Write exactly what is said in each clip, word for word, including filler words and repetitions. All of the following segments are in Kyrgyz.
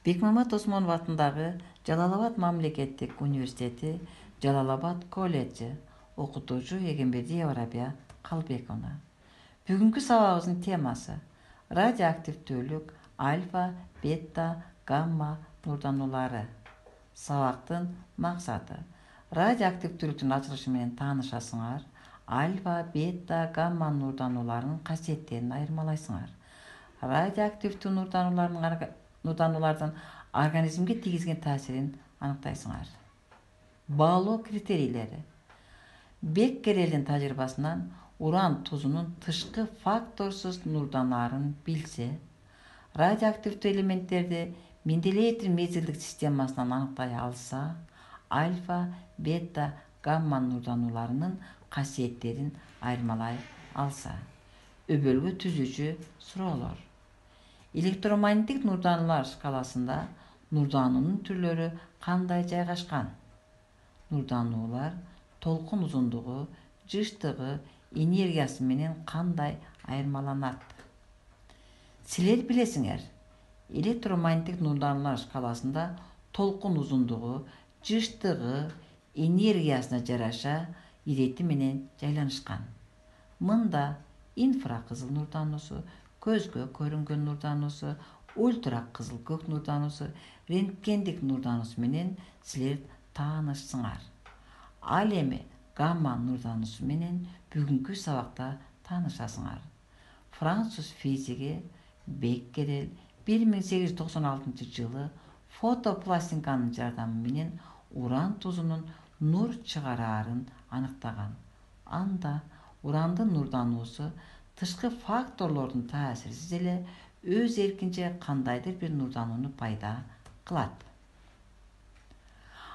Бекмамат Осмонов атындагы Жалал-Абад мамлекеттик университети, Жалал-Абад колледжи, окутуучу Эгембердиева Рабия Калбековна. Бүгүнкү сабагыбыздын темасы радиоактивдүүлүк, альфа, бета, гамма нурдануулары. Сабактын максаты радиоактивдүүлүктүн ачылышы менен таанышасыңар, альфа, бета, гамма нурданууларынын касиеттерин айырмалайсыңар. Радиоактивдүү нурдануулардын нурдануулардын организмге тийгизген таасирин аныктайсыңар. Баалоо критерийлери. Беккерелдин тажрыйбасынан уран тузунун тышкы факторсуз нурданарын билсе, радиоактивдүү элементтерди Менделеевдин мезгилдик системасынан аныктай алса, альфа, бета, гамма нурданууларынын касиеттерин айырмалай алса. Өбөлгө түзүүчү суроолор. Электромагниттик нурдануулар шкаласында нурдануунун түрлөрү кандай жайгашкан? Нурдануулар толкун узундугу, жыштыгы, энергиясы менен кандай айырмаланат? Силер билесиңер, электромагниттик нурдануулар шкаласында толкун узундугу, жыштыгы, энергиясына жараша ирети менен жайланышкан. Мында инфракызыл нурдануусу, көзгө көрүнгөн нурдануусу, ультра кызыл көк нурдануусу, рентгендик нурдануусу менен силер таанышсыңар. Ал эми гамма нурдануусу менен бүгүнкү сабакта таанышасыңар. Француз физиги Беккерел бир миң сегиз жүз токсон алтынчы жылы фотопластинканын жардамы менен уран тузунун нур чыгараарын аныктаган. Анда урандын нурдануусу тышкы факторлордун таасирсиз эле өз эркинче кандайдыр бир нурданууну пайда кылат.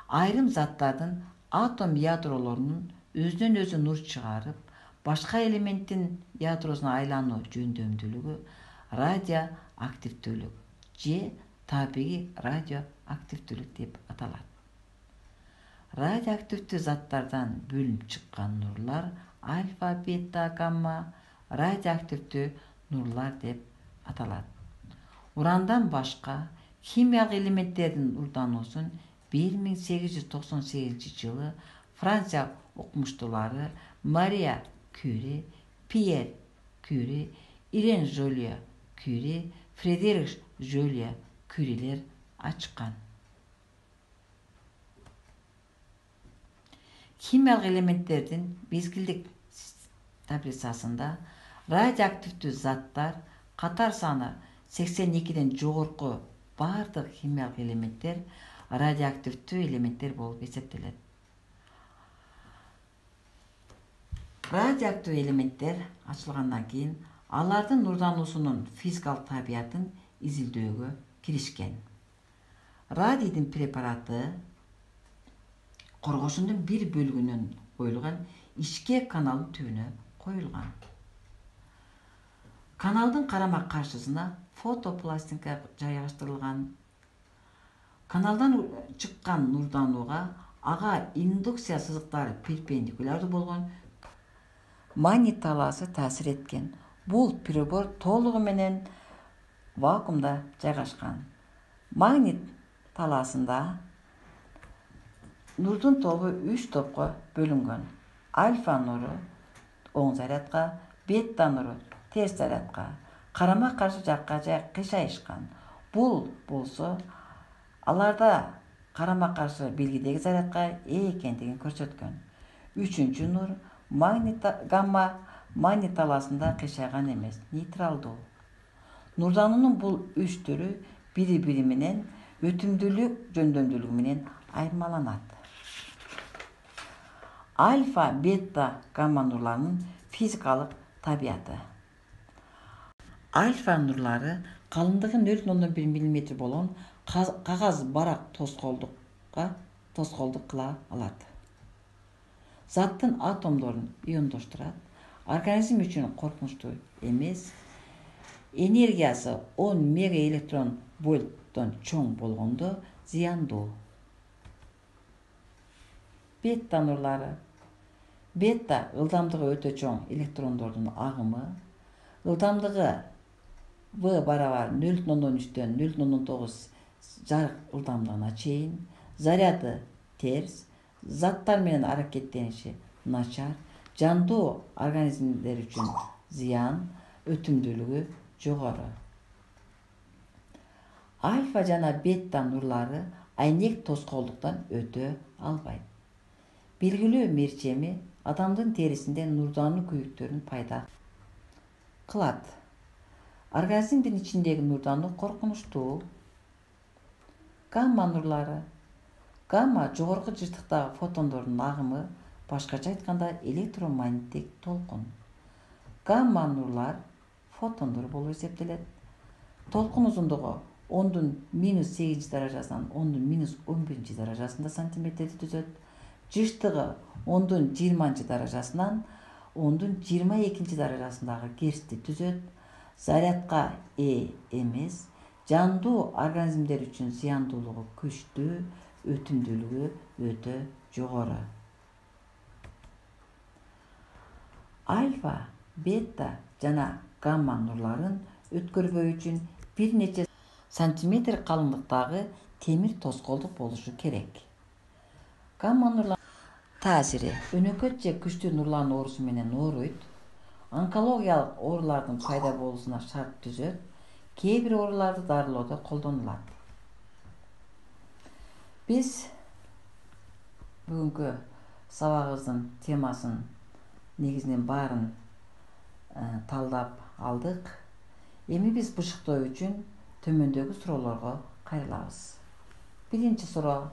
Айрым заттардын атом ядролорунун өзүнөн өзү нур чыгарып, башка элементтин ядросуна айлануу жөндөмдүүлүгү радиоактивдүүлүк же табигый радиоактивдүүлүк деп аталат. Радиоактивдүү заттардан бөлүнүп чыккан нурлар альфа, бета, гамма радиоактивдүү нурлар деп аталат. Урандан башка химиялык элементтердин нурдануусун бир миң сегиз жүз токсон сегизинчи жылы Франция окумуштуулары Мария Кюри, Пьер Кюри, Ирен Жолиа Кюри, Фредерик Жолиа Кюрилер ачкан. Химиялык элементтердин мезгилдик таблицасында радиоактивдүү заттар катар саны сексен экиден жогорку бардык химиялык элементтер радиоактивдүү элементтер болуп эсептелет. Радиоактивдүү элементтер ачылгандан кийин алардын нурдануусунун физикалык табиятын изилдөөгө киришкен. Радийдин препараты коргошундун бир бөлүгүнөн коюлган ичке каналдын түбүнө коюлган. Каналдын карама каршысына фотопластинка жайгаштырылган. Каналдан чыккан нурданууга ага индукция сызыктары перпендикулярдуу болгон магнит талаасы таасир эткен. Бул прибор толугу менен вакуумда жайгашкан. Магнит талаасында нурдун тобу үч топко бөлүнгөн. Альфа нуру оң зарядка, бета нуру терс зарядка, карама каршы жакка кыйшайышкан. Бул болсо аларда карама каршы белгидеги зарядка ээ экендигин көрсөткөн. Үчүнчү нур магнит гамма магнит талаасында кыйшайган эмес, нейтралдуу. Нурдануунун бул үч түрү бири-бири менен өтүмдүүлүк жөндөмдүүлүгү менен айырмаланат. Альфа, бета, гамма нурларынын физикалык табияты. Альфа нурлары калыңдыгы нөл бүтүн ондон бир миллиметр болгон кагаз барак тоскоолдукка тоскоолдук кыла алат. Заттын атомдорун иондоштурат. Организм үчүн коркунучтуу эмес. Энергиясы он мегаэлектрон вольттон чоң болгондо зыяндуу. Бета нурлары. Бета ылдамдыгы өтө чоң электрондордун агымы. Ылдамдыгы В барабар нөл бүтүн ондон үчтөн нөл бүтүн ондон тогуз жарык ылдамдыгына чейин, заряды терс, заттар менен аракеттениши начар, жандуу организмдер үчүн зыян, өтүмдүүлүгү жогору. Альфа жана бета нурлары айнек тоскоолдуктан өтө албайт. Белгилүү мерчеми адамдын терисинде нурдануу күйүктөрүн пайда кылат. Организмдин ичиндеги нурдануу коркунучтуу. Гамма нурлары. Гамма жогорку жыштыктагы фотондордун агымы, башкача айтканда электромагниттик толкун. Гамма нурлар фотондор болуп эсептелет. Толкун узундугу ондун минус сегизинчи даражасынан ондун минус он биринчи даражасында сантиметрди түзөт. Жыштыгы ондун жыйырманчы даражасынан ондун жыйырма экинчи даражасындагы герцти түзөт. Зарядка ээ эмес, жандуу организмдер үчүн зыяндуулугу күчтүү, өтүмдүүлүгү өтө жогору. Альфа, бета жана гамма нурларын өткөрбөө үчүн бир нече сантиметр калыңдыктагы темир тоскоолдук болушу керек. Гамма нурлар таасири өнөкөт же күчтүү нурлануу оорусу менен ооруйт. Онкологиялык оорулардын пайда болуусуна шарт түзөт. Кээ бир ооруларды дарылоодо колдонулат. Биз бүгүнкү сабагыбыздын темасын негизинен баарын талдап алдык. Эми биз бышыктоо үчүн төмөндөгү суроолорго кайрылабыз. Биринчи суроо: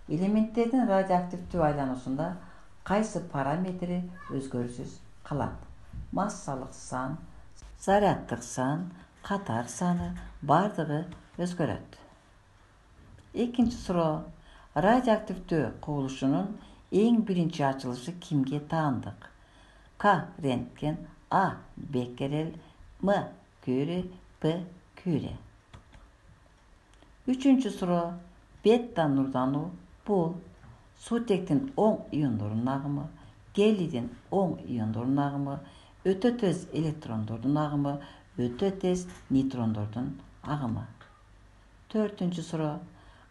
элементтердин радиоактивдүү айлануусунда кайсы параметри өзгөрүүсүз калат? Массалык сан, заряддык сан, катар саны бардыгы өзгөрөт. Экинчи суроо: радиоактивдүү кубулушунун эң биринчи ачылышы кимге таандык? К. Рентген, А. Беккерель, М. Кюри, П. Кюри. Үчүнчү суроо: бета нурдануу бул суутектин оң иондорунун агымы, гелийдин оң иондорунун агымы, өтө тез электрондордун агымы, өтө тез нейтрондордун агымы. Төртүнчү суроо: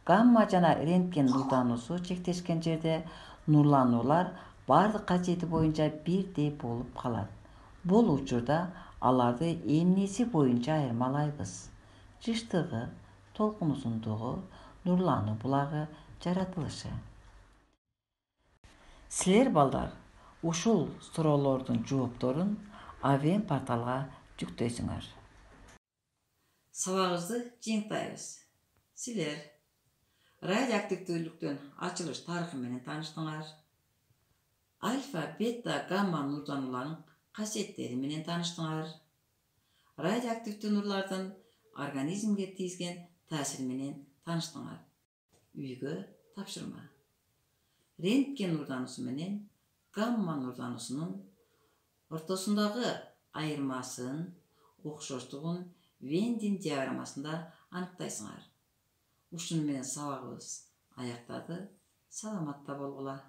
гамма жана рентген нурдануусу чектешкен жерде нурлануулар бардык касиети боюнча бирдей болуп калат. Бул учурда аларды эмнеси боюнча айырмалайбыз? Жыштыгы, толкун узундугу, нурлануу булагы, жаратылышы. Силер балдар ушул суроолордун жоопторун Авен порталга жүктөйсүңөр. Сабагыбызды жыйынтайбыз. Силер радиоактивдүүлүктүн ачылыш тарыхы менен тааныштыңар. Альфа, бета, гамма нурданууларынын касиеттери менен тааныштыңар. Радиоактивдүү нурлардын организмге тийгизген таасири менен тааныштыңар. Үйгө тапшырма. Рентген нурдануусу менен гамма нурдануусунун ортосундагы айырмасын, окшоштугун Вендин диаграммасында аныктайсыңар. Ушуну менен сабагыбыз аяктады. Саламатта болгула.